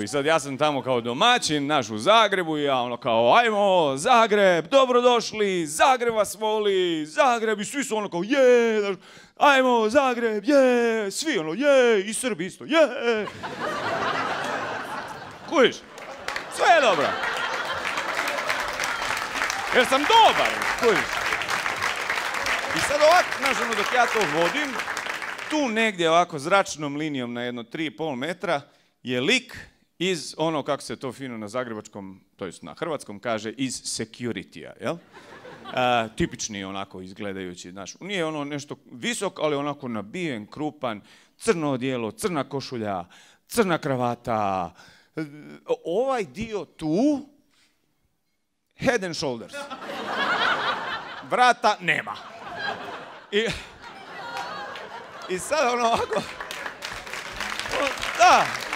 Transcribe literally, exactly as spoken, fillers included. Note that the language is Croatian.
I sad ja sam tamo kao domaćin, naš u Zagrebu i ja ono kao ajmo Zagreb, dobrodošli, Zagreb vas voli, Zagreb i svi su ono kao je, ajmo Zagreb, je, svi ono je, i Srbi isto, je. Kužiš? Sve je dobro. Jer sam dobar, kužiš? I sad ovako, znaš ono dok ja to vodim, tu negdje ovako zračnom linijom na jedno tri i pol metra je lik iz ono, kako se to fino na zagrebačkom, to jest na hrvatskom kaže, iz security-a, jel? A, tipični onako izgledajući, znaš, nije ono nešto visok, ali onako nabijen, krupan, crno odijelo, crna košulja, crna kravata, ovaj dio tu, head and shoulders. Vrata nema. I, i sad ono ovako, da,